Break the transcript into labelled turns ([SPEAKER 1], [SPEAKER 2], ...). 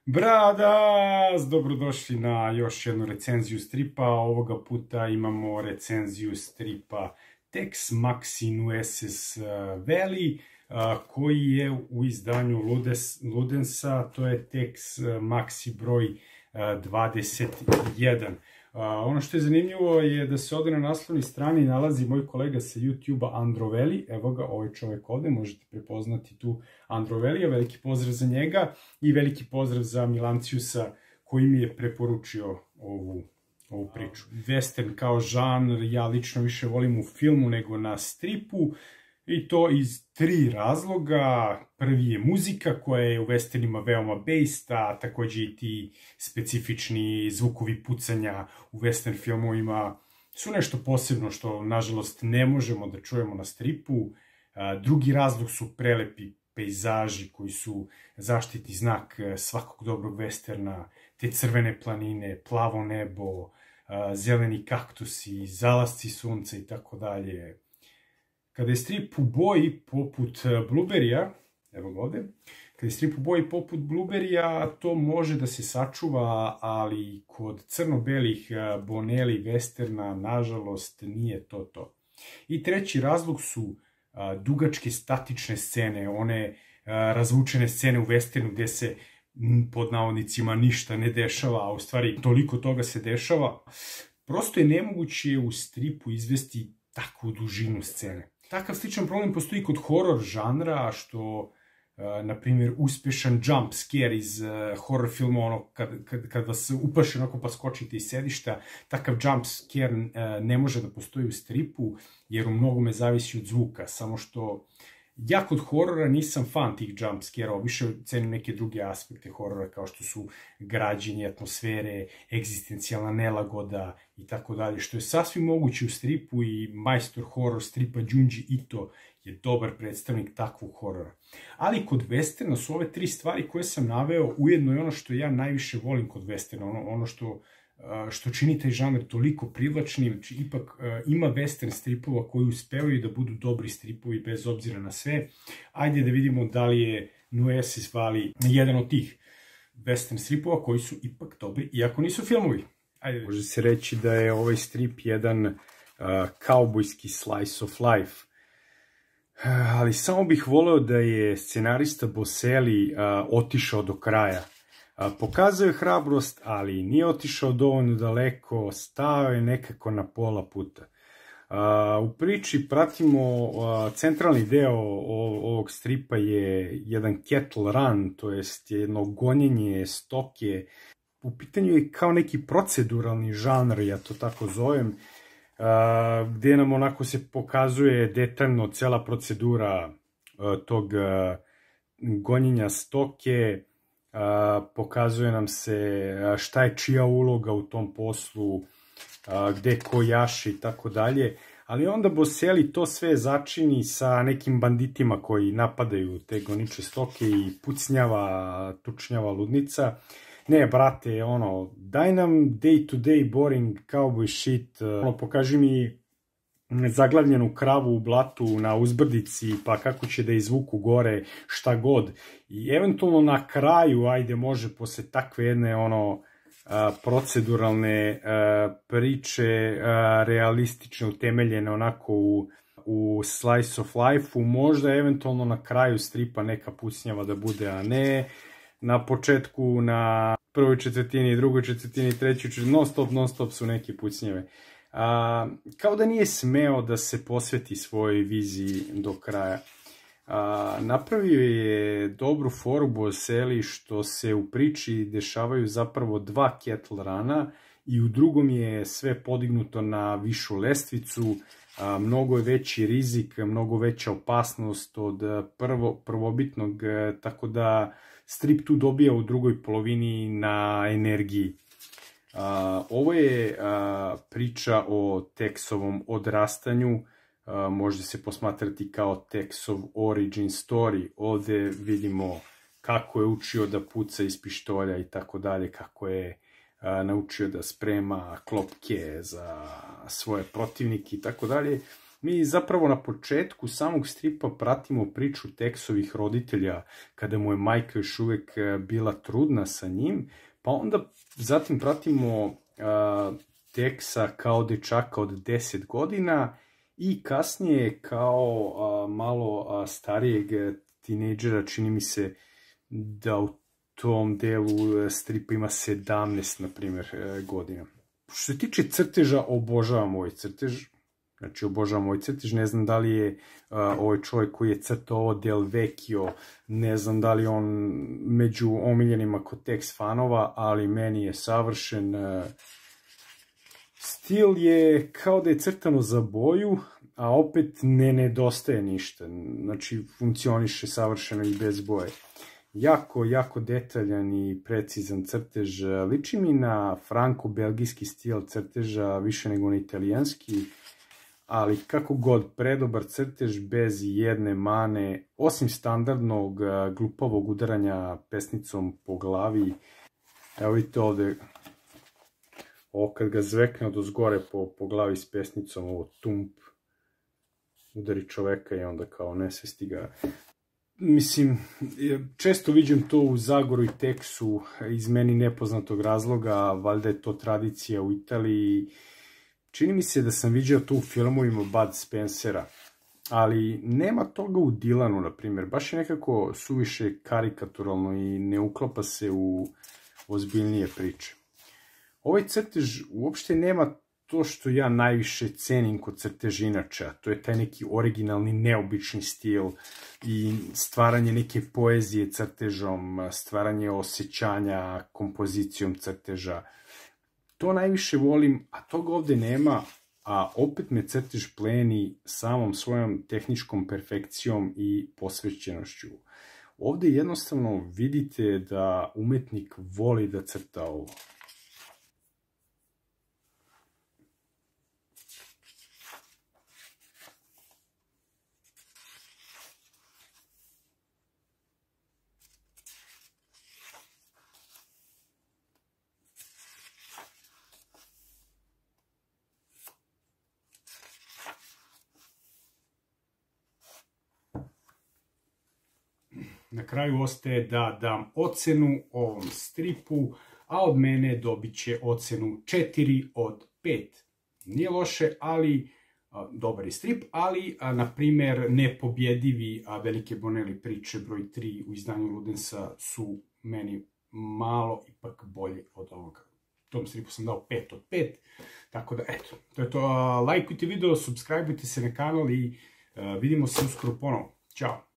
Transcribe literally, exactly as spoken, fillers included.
[SPEAKER 1] Bradas, dobrodošli na još jednu recenziju stripa. Ovoga puta imamo recenziju stripa Tex Maxi Nueces Valley, koji je u izdanju Ludensa, to je Tex Maxi broj dvadeset jedan. Ono što je zanimljivo je da se ovdje na naslovnoj strani nalazi moj kolega sa YouTube-a Androveli. Evo ga, ovaj čovjek ovdje, možete prepoznati tu Androvelija. Veliki pozdrav za njega i veliki pozdrav za Milanciusa koji mi je preporučio ovu, ovu priču. Western kao žanr ja lično više volim u filmu nego na stripu. I to iz tri razloga. Prvi je muzika koja je u westernima veoma based, a također i ti specifični zvukovi pucanja u western filmovima su nešto posebno što nažalost ne možemo da čujemo na stripu. Drugi razlog su prelepi pejzaži koji su zaštitni znak svakog dobrog westerna, te crvene planine, plavo nebo, zeleni kaktusi, zalasci sunca i tako dalje. Kada je strip u boji poput Blueberrya, evo ga ovdje, kada je strip u boji poput Blueberrya, to može da se sačuva, ali kod crno-belih Bonelli westerna, nažalost, nije to to. I treći razlog su a, dugačke statične scene, one a, razvučene scene u westernu gdje se m, pod navodnicima ništa ne dešava, a u stvari toliko toga se dešava. Prosto je nemoguće u stripu izvesti takvu dužinu scene. Takav sličan problem postoji kod horror žanra, što, na primjer, uspješan jump scare iz horror filma, ono, kad, kad, kad vas uplaši onako pa skočite iz sedišta, takav jump scare ne može da postoji u stripu, jer u mnogome zavisi od zvuka, samo što ja kod horora nisam fan tih jump scare-ova, više cenim neke druge aspekte horora kao što su građenje atmosfere, egzistencijalna nelagoda i tako dalje, što je sasvim moguće u stripu i majstor horor stripa Junji Ito je dobar predstavnik takvog horora. Ali kod westerna su ove tri stvari koje sam naveo ujedno i ono što ja najviše volim kod westerna, ono, ono što što čini taj žanr toliko privlačnim. Znači, ipak ima western stripova koji uspevaju da budu dobri stripovi bez obzira na sve. Ajde da vidimo da li je Nueces Valley jedan od tih western stripova koji su ipak dobri, iako nisu filmovi. Ajde. Može se reći da je ovaj strip jedan uh, kaubojski slice of life. Uh, ali samo bih voleo da je scenarista Boselli uh, otišao do kraja. Pokazao je hrabrost, ali nije otišao dovoljno daleko, stao je nekako na pola puta. U priči pratimo centralni deo ovog stripa je jedan cattle run, to jest jedno gonjenje stoke. U pitanju je kao neki proceduralni žanr, ja to tako zovem, gdje nam onako se pokazuje detaljno cela procedura tog gonjenja stoke. Uh, pokazuje nam se šta je čija uloga u tom poslu, uh, gde ko jaši i tako dalje, ali onda Boselli to sve začini sa nekim banditima koji napadaju te goniče stoke i pucnjava, tučnjava ludnica. Ne, brate, ono, daj nam day to day boring cowboy shit, uh, ono, pokaži mi zaglavljenu kravu u blatu na uzbrdici, pa kako će da izvuku gore, šta god. I eventualno na kraju, ajde, može posle takve jedne ono proceduralne priče, realistične, utemeljene onako u, u slice of life-u, možda eventualno na kraju stripa neka pucnjava da bude, a ne na početku, na prvoj četvrtini, drugoj četvrtini, trećoj četvrtini, non stop, non stop su neke pucnjeve. A, kao da nije smeo da se posveti svojoj viziji do kraja. A, napravio je dobru foru Boselli što se u priči dešavaju zapravo dva cattle rana i u drugom je sve podignuto na višu lestvicu, a, mnogo je veći rizik, mnogo veća opasnost od prvo, prvobitnog, tako da strip tu dobija u drugoj polovini na energiji. Uh, ovo je uh, priča o Texovom odrastanju, uh, može se posmatrati kao Texov origin story. Ovdje vidimo kako je učio da puca iz pištolja i tako dalje, kako je uh, naučio da sprema klopke za svoje protivnike i tako dalje. Mi zapravo na početku samog stripa pratimo priču Texovih roditelja kada mu je majka još uvek bila trudna sa njim, pa onda zatim pratimo uh, Texa kao dečaka od deset godina i kasnije kao uh, malo uh, starijeg tinejdžera, čini mi se da u tom delu stripa ima sedamnaest, na primjer, godina. Što se tiče crteža, obožavam ovaj crtež. Znači, obožavam ovaj crtež. Ne znam da li je uh, ovaj čovjek koji je crtao ovo Del Vecchio, ne znam da li on među omiljenima kod Tex fanova, ali meni je savršen. Uh, stil je kao da je crtano za boju, a opet ne nedostaje ništa. Znači, funkcioniše savršeno i bez boje. Jako, jako detaljan i precizan crtež. Liči mi na franko-belgijski stil crteža, više nego na italijanski, ali kako god, predobar crtež bez jedne mane, osim standardnog glupavog udaranja pesnicom po glavi. Evo vidite ovde, ovo kad ga zvekne od ozgore po, po glavi s pesnicom, ovo tump, udari čoveka i onda kao nesvesti ga. Mislim, često viđem to u Zagoru i Texu iz meni nepoznatog razloga, valjda je to tradicija u Italiji. Čini mi se da sam viđao to u filmovima Bud Spencera, ali nema toga u Dylanu, na primjer. Baš je nekako suviše karikaturalno i ne uklapa se u ozbiljnije priče. Ovaj crtež uopšte nema to što ja najviše cenim kod crtežinača, to je taj neki originalni, neobični stil i stvaranje neke poezije crtežom, stvaranje osjećanja kompozicijom crteža. To najviše volim, a toga ovde nema, a opet me crtež pleni samom svojom tehničkom perfekcijom i posvećenošću. Ovde jednostavno vidite da umetnik voli da crta ovo. Na kraju ostaje da dam ocenu ovom stripu, a od mene dobit će ocenu četiri od pet. Nije loše, ali a, dobar je strip, ali, a, na primer, nepobjedivi a, Velike Bonelli priče broj tri u izdanju Ludensa su meni malo ipak bolje od ovoga. Tom stripu sam dao pet od pet, tako da, eto, to je to. Lajkujte video, subscribeujte se na kanal i a, vidimo se uskoro ponovo. Ćao!